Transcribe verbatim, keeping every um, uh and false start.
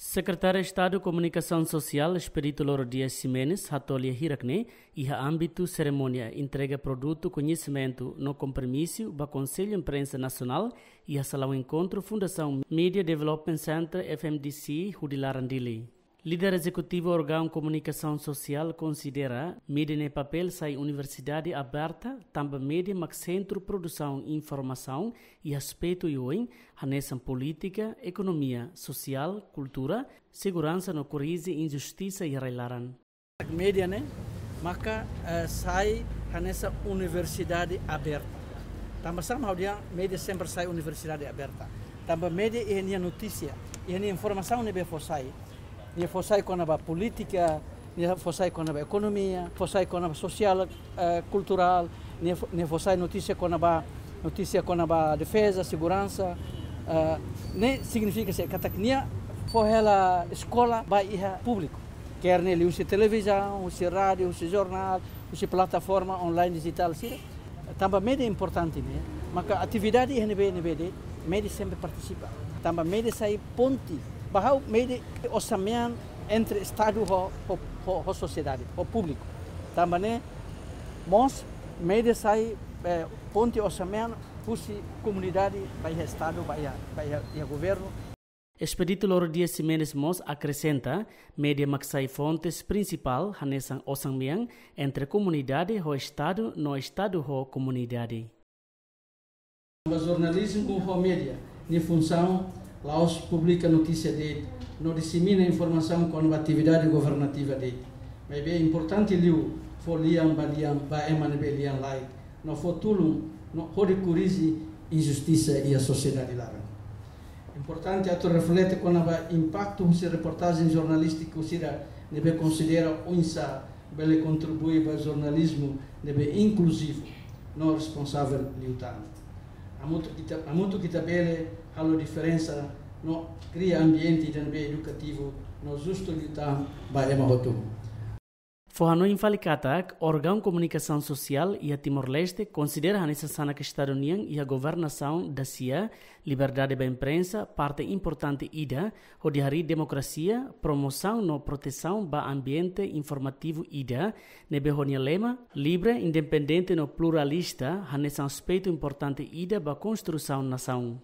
Sekretáriu Estadu Komunikasaun Sosiál, Expedito Lauro Dias Ximenes, hato'o lia hirak-ne'e iha ámbitu serimónia entrega produtu koñesimentu no kompromisu ba Konsellu Imprensa Nasionál iha salaun enkontru Fundasaun Media Development Center, F M D C, hudi laran Dili. Líder ezekutivu órgaun komunikasaun sosiál konsidera média nia papél sai universidade aberta, tanba média mak sentru produsaun informasaun iha aspetu oioin, hanesan polítika, ekonomia, sosiál, kultura, seguransa no korrije injustisa iha rai-laran. Média ne'e maka, eh, sai hanesan universidade aberta. Tanba sá mak ha'u dehan média sempre sai universidade aberta? Tanba média iha nia notísia, iha nia informasaun ne'ebé fó sai. Nia fó sai kona-ba polítika, nia fó sai kona-ba ekonomia, fó sai kona-ba sosiál, eh, kulturál, nia fó, nia fó sai notísia kona-ba, notísia kona-ba defeza, seguransa, eh, ne'e signifika se katak nia fó hela eskola ba iha públiku. Kerne liuhusi televizaun, husi rádiu, husi jornál, husi plataforma online dijitál sira. Tanba média importante ne'e, maka atividade iha ne'ebé, ne'ebé de'it, média sempre partisipa. Tanba média sai ponte, ba ha'u média osan-mean entre Estadu ho, ho, ho, ho sosiedade, ho públiku. Tanba ne'e mós média sai, eh, ponte osan-mean husi komunidade ba iha Estadu, ba iha, ba iha, iha governu. Expedito Lauro Dias Ximenes mós akresenta, média mak sai fontes prinsipál hanesan osan-mean entre komunidade ho Estadu no Estadu ho komunidade. Ba jornalizmu ho média nia funsaun la'ós publika notísia de'it no disemina informasaun kona-ba atividade governativa de'it. Maibé importante liu fó lian ba lian ba ema ne'ebé lian-laek, no fó tulun no hodi korrije injustisa iha sosiedade laran. Importante atu reflete kona-ba impaktu husi reportajen jornalístiku sira ne'ebé konsidera oinsá bele kontribui ba jornalizmu ne'ebé inkluzivu no responsavel liután. Hamutuk ita, hamutuk ita bele halo diferensa no kria ambiente ida ne'ebé edukativu no justu liután ba ema hotu. Fó hanoin fali katak, órgaun komunikasaun sosiál iha Timor-Leste konsidera hanesan sanak Estadu nian iha governasaun dasia, liberdade ba imprensa parte importante ida hodi harii demokrasia, promosaun no protesaun ba ambiente informativu ida ne'ebé ho nia lema livre, independente no pluralista hanesan aspetu importante ida ba konstrusaun nasaun.